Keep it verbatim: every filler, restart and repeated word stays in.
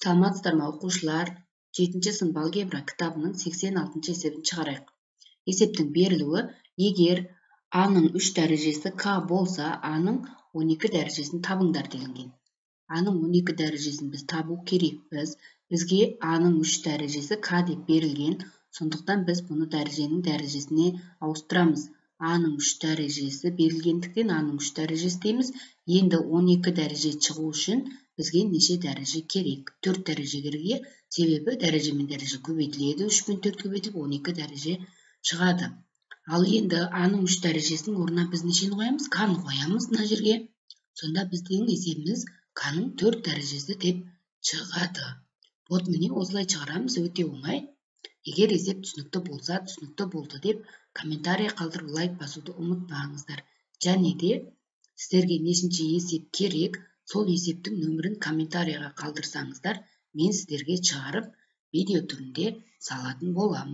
Саламатсыздарбы окуучулар? жетинчи сынып алгебра китабынын сексен алтынчы эсебин чыгарайык. Эсептин берилүүи: эгер анын үч дарежеси k болсо, анын он эки дарежесин табыңдар делинген. Анын он эки дарежесин биз табуу керекпиз. Бизге анын үч дарежеси k деп берилген. Сондуктан биз буну дареженин дарежесине ауыстырабыз. Анын үч дарежеси берилгендиктен анын үч дарежеси дейбиз. Энди он эки дареже чыгуу үчүн бизге нече дареже керек? төрт дареже керек. Себеби дареже менен дареже көбөйтүлөдү. үч менен төрт көбөйтүлүп он эки дареже чыгады. Ал энди анын үч дарежесинин ордуна биз нечени коебуз? K'ны коебуз мына жерге. Сонда биздин эсебибиз K'нын төрт дарежеси деп чыгады. Вот мени осулай чыгарабыз, өтө оңой. Эгер эсеп түшүнүктүү болсо, түшүнүктүү болду деп комментарий калтырып лайк басууну унутпаңыздар. Және де сиздерге нечинчи эсеп керек, сол эсептин нөмүрүн комментарийга калтырсаңыздар, мен сиздерге чыгарып видео түрүндө салатын болам.